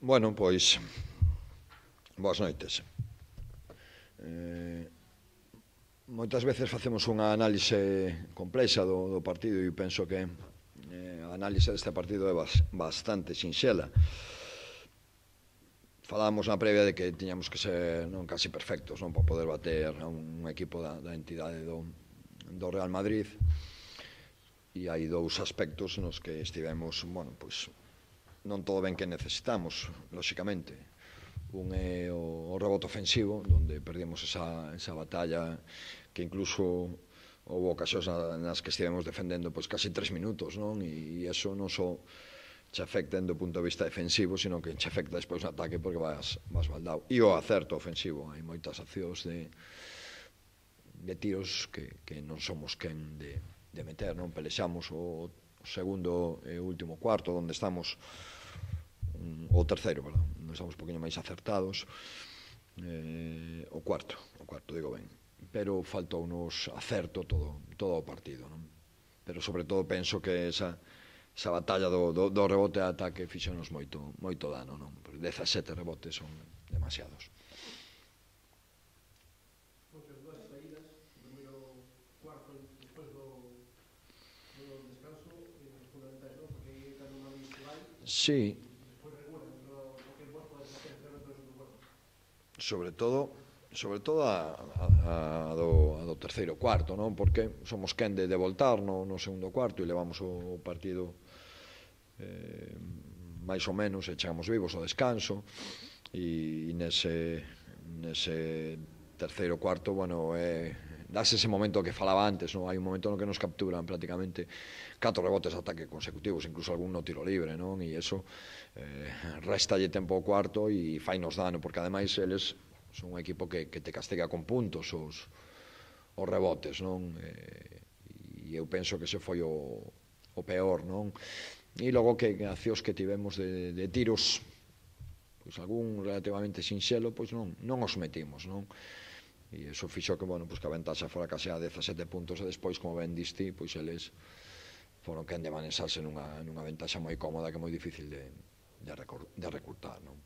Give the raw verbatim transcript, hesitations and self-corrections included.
Bueno, pois, boas noites. Eh, moitas veces facemos unha análise complexa do, do partido e penso que eh, a análise deste partido é bas, bastante sinxela. Falábamos na previa de que tiñamos que ser non casi perfectos, non, para poder bater a un equipo da, da entidade do, do Real Madrid, e hai dous aspectos nos que estivemos, bueno, pois non todo ben que necesitamos, lóxicamente. Un é o, o rebote ofensivo, onde perdimos esa, esa batalla que incluso houve ocasións nas que estivemos defendendo pois casi tres minutos, non? E iso non só che afecta do punto de vista defensivo, sino que che afecta despois no ataque porque vas, vas baldao. E o acerto ofensivo, hai moitas accións de, de tiros que, que non somos quen de, de meter, non? Pelexamos o segundo e último cuarto, onde estamos o terceiro, perdón, non estamos un poquinho máis acertados, eh, o cuarto, o cuarto, digo ben, pero faltounos acerto todo, todo o partido, non? Pero sobre todo penso que esa, esa batalla do, do, do rebote a ataque fixonos moito, moito dano, non? Porque dezasete rebotes son demasiados. Moitas dúas saídas, o primeiro cuarto despois do, do descanso, fundamentais, non? Porque aí cando unha vez vai, Sí. Sobre todo, sobre todo a, a, a, do, a do terceiro cuarto, non? Porque somos quen de, de voltar no, no segundo cuarto e levamos o, o partido eh, máis ou menos e chegamos vivos ao descanso e, e nese, nese terceiro cuarto, bueno, é, dase ese momento que falaba antes, non? Hai un momento no que nos capturan prácticamente catro rebotes de ataque consecutivos, incluso algún no tiro libre, non? E iso eh, restalle tempo ao cuarto e fainos dano, porque ademais eles son un equipo que, que te castiga con puntos os, os rebotes, non? E, e eu penso que ese foi o, o peor, non? E logo que accións que tivemos de, de tiros, pois algún relativamente sinxelo, pois non, non os metimos, non? E iso fixo que, bueno, pois que a ventaxa fora case a dezasete puntos e despois, como ben diste, pois eles foron quen de manexarse nunha, nunha ventaxa moi cómoda que é moi difícil de, de, recor, de recurtar, non?